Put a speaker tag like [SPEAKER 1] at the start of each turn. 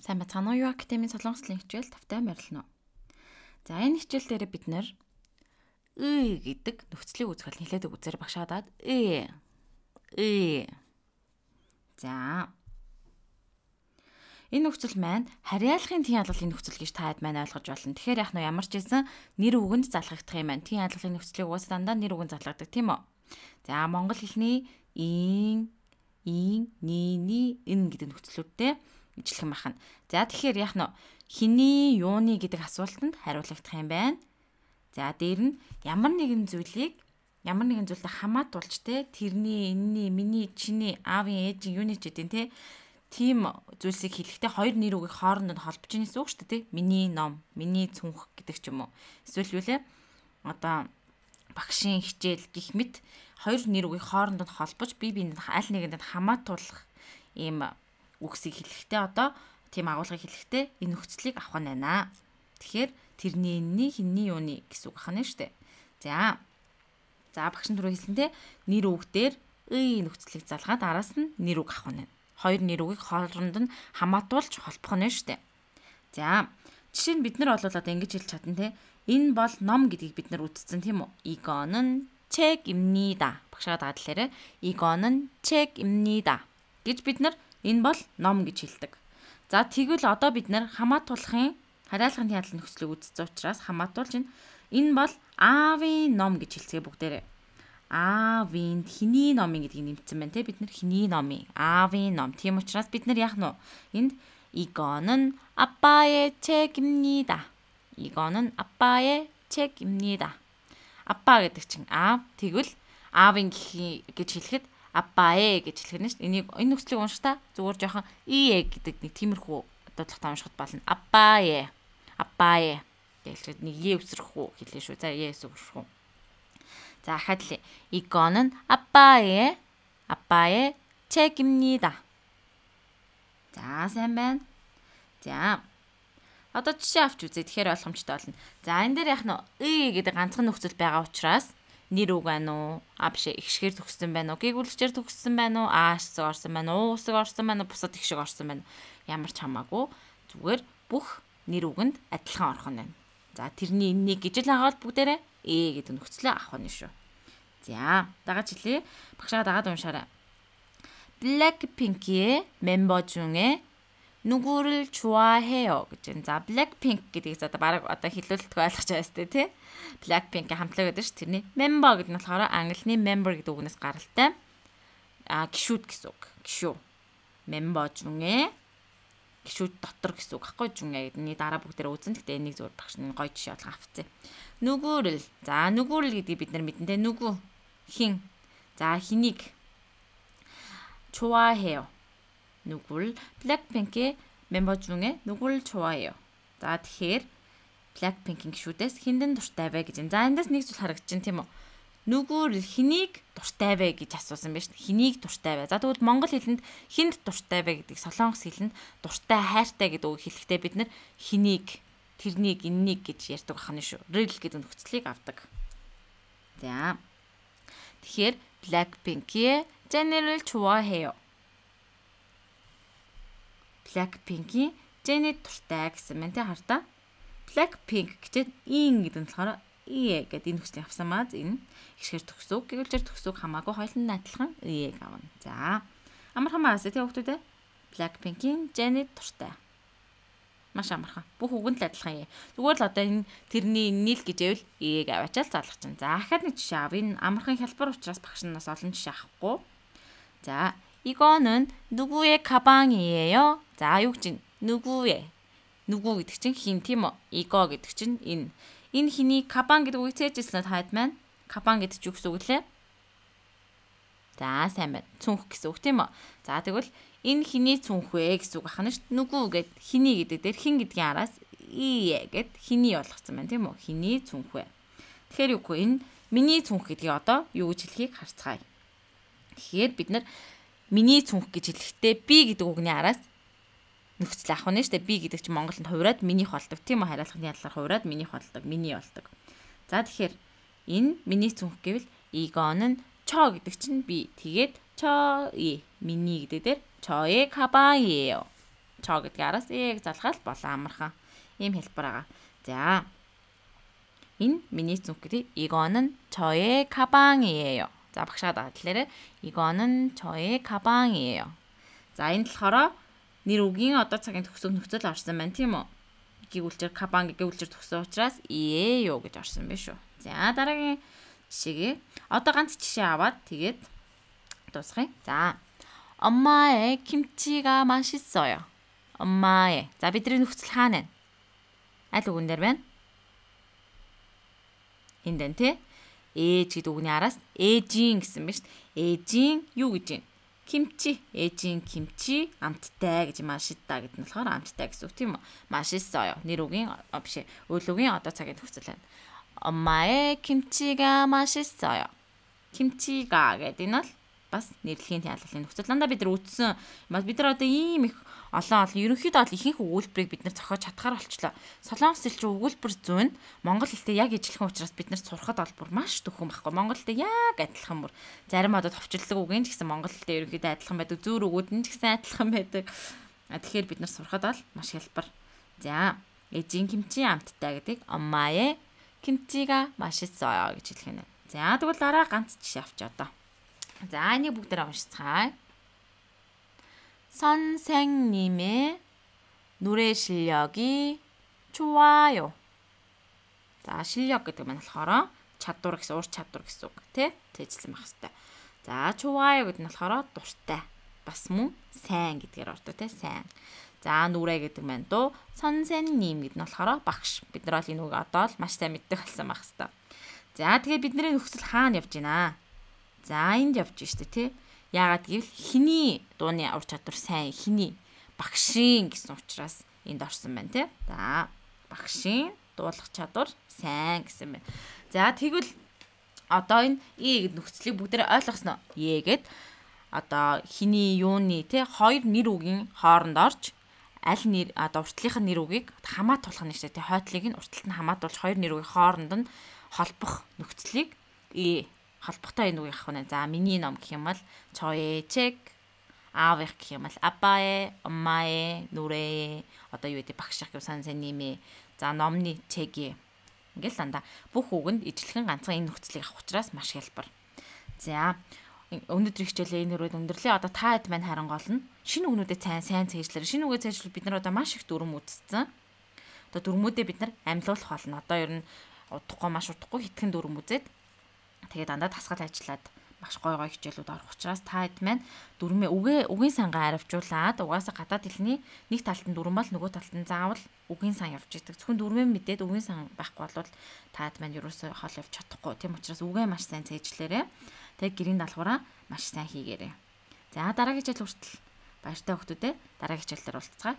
[SPEAKER 1] Сайн бацгаана уу? Юу академийн солонгослын хичээл тавтай морилно. За энэ хичээл дээр бид нэр гэдэг нөхцөлийг үзэхэл хэлээд үзээр багшаадаад За энэ нөхцөл маань харьяалахын тэн ялгалын нөхцөл гэж та хэд маань ойлгож байна. Тэгэхээр яг нь ямар ч хэлсэн нэр үгэнд залгагдах юм байна. Тэн ялгалын нөхцөлийг уусаа дандаа нэр үгэнд залгадаг тийм үү? За монгол хэлний ин, ни, ин гэдэг нөхцлүүдтэй ижилхэн бахна. За тэгэхээр яг нь хиний, юуны гэдэг асуултанд хариулагдах юм байна. За дээр нь ямар нэгэн зүйлтэй хамаатуулж те тэрний, энэний, миний, чиний, аавын, ээжийн, юуны ч гэдэг те тийм зүйлсийг хэлэхдээ хоёр нэр үгийг хоорондоо холбож байгаа гэсэн үг шүү дээ те. Миний ном, миний цүнх гэдэг ч юм уу. Эсвэл юу лээ? Одоо багшийн хичээл гэх мэт хоёр нэр үгийг хоорондоо холбож бие биенээ аль нэгэнд хамаатуулах ийм үгсийг хэлэхдээ одоо тийм агуулгыг хэлэхдээ энэ нөхцөлийг авах нь байна. Тэгэхээр тэрний, энэний, хиний, юуны гэсэн үг ахна шүү дээ. За багш нь түрүү хэлсэнтэй нэр үгдээр нөхцөлийг залгаад араас нь нэр үг авах нь. Хоёр нэр үгийг хооронд нь хамаатуулж холбох нь шүү дээ. За жишээ нь бид нар бол одоо ингэж хэлж чадна те. Энэ бол ном гэдгийг бид нар үзсэн тийм үү? 이거는 책입니다. багшаа дадлаарэ 이거는 책입니다 гэж бид нар энэ бол ном гэж хэлдэг. За тэгвэл одоо бид нар хамаатуулахын харьяалахын ялгалын нөхцөлийг үзсэн учраас хамаатуулж энэ бол аавын ном гэж хэлцгээе бүгдээрээ. Аавын хиний номын гэдгийг нэмсэн байна те. Бид нар хиний номын аавын ном. Тийм учраас бид нар яах нь энд 이거는 아빠의 책입니다. 이거는 아빠의 책입니다. 아빠 гэдэг чинь аав тэгвэл аавын гэж хэлэхэд 아빠의 гэж хэлэх нь шүү дээ. Энэ нөхцөлийг уншихтаа зүгээр жоохон гэдэг нэг тиймэрхүү дуудлага уншихад болно. 아빠의 гэж нэг өсрөх үү хэлээ шүү. За өсрөх үү. За хадли. 이거는 아빠의 책입니다. За сайн байна. За одоо жишээ авч үзье. Тэгэхээр ойлгомжтой болно. За энэ дээр яг нь гэдэг ганцхан нөхцөл байгаа учраас нэр үг байна уу? Биш ихшгээр төгссөн байна уу? Гэгүүлэгчээр төгссөн байна уу? Хэсэг орсон байна уу? Үсэг орсон байна уу? Бусад ихшиг орсон байна уу? Ямар ч хамаагүй зүгээр бүх нэр үгэнд адилхан орох нь байна. За тэрний энэнийг гэж л хагаал бүгдээрээ гэдэг нөхцөлөө авах нь шүү. За дагаад хэлье. багшаа дагаад уншаарай. 블랙핑크의 멤버 중에 누구를 좋아해요 гэж. За 블랙핑크 гэдгийг одоо баг одоо хэлүүлэлт ойлгож байгаа сте тий. 블랙핑크 хамтлаг гэдэг чинь тэрний member гэдэг нь болохоор англиний member гэдэг үгнээс гаралтай. Гişүүд гэсэн үг. гişүү. member 중에 гişүүд дотор гэсэн үг байхгүй 중에 гэдний дараа бүгдээрээ үзэн. Гэхдээ энийг зөвөр багшны гоё жишээ болгон авцгаа. 누구를. За 누구를 гэдгийг бид нар мэднэ те. 누구 хин. За хэнийг 좋아해요. 누굴 블랙핑크의 멤버 중에 누굴 좋아해요. За тэгэхээр 블랙핑кийн гişүүдээс хиндэн дуртай вэ гэж. За эндээс нэг зүйл харагдаж байна тийм үү? 누굴 хэнийг дуртай вэ гэж асуусан байна шүү дээ. Хэнийг дуртай вэ? За тэгвэл монгол хэлэнд хинд дуртай вэ гэдэг солонгос хэлэнд дуртай хайртай гэдэг үг хэлэхдээ бид нар хэнийг, тэрнийг, энэнийг гэж ярьдаг байна шүү. Рэл гэдэг нөхцөлийг авдаг. За тэгэхээр 블랙핑크의 제니를 좋아해요. 블랙핑크ийн 제니 дуртай гэсэн мэн тэ хартаа. 블랙핑크 гэдэг ин гэдэг нь болохоор гэдэг энэ нөхцөлийг авсан маа. Энэ ихшгээр төгсөв, гэгүүлжээр төгсөв хамаагүй хоёулын адилхан авна. За амархан маас тэ хүүхдүүд 블랙핑크ийн 제니 дуртай. Маш амархан. Бүх үгэнд л адилхан. Зүгээр л одоо энэ тэрний нийл гэж байвал аваачаал залгах чинь. За дахиад нэг жишээ ав. Энэ амархан хялбар учраас багш нас олон жишээ авахгүй. 자, 이거는 누구의 가방이에요? 자, юу гэж 누구의. 누구 гэдэг чинь хин тийм үү? 이거 гэдэг чинь энэ. Энэ хиний 가방 гэдэг үгийг цээжсэн таад маань. 가방 гэдэг чинь юу гэсэн үг лээ? За, сайн байна. Цүнх гэсэн үг тийм үү? За, тэгвэл энэ хиний цүнх вэ гэсэн үг ахна шүү. 누구 гэд хиний гэдэг дээр хин гэдгийн араас гэд хиний болгоцсон байна тийм үү? хиний цүнх вэ. Тэгэхээр юу гэх энэ миний цүнх гэдгийг одоо юу гэж хэлхийг харцгаая. Тэгэхээр бид нар миний цүнх гэж хэлэхдээ би гэдэг үгний араас нөхцөл авах нь шүү дээ. Би гэдэг чинь Монголд хувираад минийх болдог. Тийм үү? Хариалахын ялгаар хувираад минийх болдог. Миний болдог. За тэгэхээр энэ миний цүнх гэвэл 이거는 저 гэдэг чинь би. Тэгээд 저의 миний гэдэг дээр 저의 가방이에요. чо гэдгийг араас ийг залгаад болоо амархан. Ийм хэлбэр байгаа. За. Энэ миний зүнх гэдэг 이거는 저의 가방이에요. За багшаа дадлаарэ 이거는 저의 가방이에요. За энэ болохоор нэр үгийн одоо цагийн төгсөг нөхцөл орсон байна тийм үү? Гэгүүлчээр кабан гэгүүлчээр төгсөн учраас иеё гэж орсон байна шүү. За дараагийн жишээгээ одоо ганц жишээ аваад тэгээд дуусгая. 자. 엄마의 김치가 맛있어요. 엄마의. 자 бидний нөхцөл хаана вэ? Аль үгэн дээр байна? Энд дээ тий. ээж гэдэг үгний араас ээжийн гэсэн байна шүү дээ. ээжийн юу гэж вэ? 김치. ээжийн 김치 амттай гэж 맛있다 гэдэг нь болохоор амттай гэсэн үг тийм үү? 맛있어요. нэр үгийн биш үйл үгийн одоо цагийн төгсөл байна. 엄마의 김치가 맛있어요. 김치가 гэдэг нь бол бас нэрлэхийн ялгалын нөхцөл. Дандаа бид нар үтсэн. Бид нар одоо ийм их олон ерөнхийдөө бол ихэнх өгүүлбэрийг бид нар зохиож чадхаар болчлоо. Солонгос хэл чинь өгүүлбэр зүүн монгол хэлтэй яг ижилхэн учраас бид нар сурахад бол бүр маш төхөн байхгүй. Монгол хэлтэй яг адилхан бүр. Зарим одоо товчлог үгийн ч гэсэн монгол хэлтэй ерөнхийдөө адилхан байдаг. Зүүр өгүүд нь ч гэсэн адилхан байдаг. Тэгэхээр бид нар сурахад бол маш хялбар. За, ээжийн 김치 амттай гэдэг 엄마의 김치가 맛있어요 гэж хэлэх нь. За, тэгвэл дараа ганц жишээ авчаа одоо. 자, энийг бүгдээр уншицгаая. 선생님의 노래 실력이 좋아요. 자, 실력 гэдэг нь болохоор чадвар гэсэн ур чадвар гэсэн үг тий? Тэжсэн байх хэрэгтэй. За, 좋아요 гэдэг нь болохоор дуртай. Бас мөн сайн гэдгээр ордог тий? Сайн. За, 노래 гэдэг нь дуу 선생님 гэдэг нь болохоор багш. Бид нар бол энэ үг одоо л маш сайн мэддэг болсон байх хэрэгтэй. За, тэгээд бидний нөхцөл хаана явж байна? За энд явж штэ тий. Яагаад гэвэл хиний дууны ур чадвар сайн хиний багшийн гэсэн учраас энд орсон байна тий. За багшийн дуулах чадвар сайн гэсэн байна. За тэгвэл одоо энэ и нөхцөлийг бүгдээ ойлгосноо. Егээд одоо хиний юуны тий хоёр нэр үгийн хооронд орж аль нэр одоо уртлынхаа нэр үгийг хамаатуулах нь штэ тий. Хойтлыг нь урталт нь хамаатуулж хоёр нэр үгийн хооронд нь холбох нөхцөлийг холбогтой энэ үг явах нь. За миний ном гэх юм бол 저의 책, 아버지 гэх юм бол 아빠의, 엄마의, 노래의 одоо юу гэдэг багш гэх 선생님의 за номны 책이 ингээл дандаа бүх үгэнд ижилхэн ганцхан энэ нөхцөлийг авах учраас маш хялбар. За өнөөдөр хичээлээ энэ хүрээд өндөрлөө. Одоо та хэд маань харангуул нь шинэ үгнүүдэд сайн цээжлэр. Шинэ үгээ цээжлэл бид нар одоо маш их дүрм үзсэн. Одоо дүрмүүдээ бид нар амьлуулах болно. Одоо ер нь удахгүй маш удахгүй хитгэн дүрм үзээд тэгээд дандаа тасгал ажиллаад маш гой хичээлүүд орох учраас та хэд маань дүрмээ үгийн сангаа аривжуулаад угаасаа гадаад хэлний нэг талд нь дүрм бол нөгөө талд нь заавал үгийн сан явж идэг. Зөвхөн дүрмээ мэдээд үгийн сан байхгүй бол та хэд маань ерөөсөө хол явж чадахгүй. Тийм учраас үгээ маш сайн цээжлээрээ. Тэгээд гэрийн даалгавраа маш сайн хийгээрэй. За дараагийн хичээл хүртэл баяртай хүмүүстээ дараагийн хичээлээр уулзцгаая.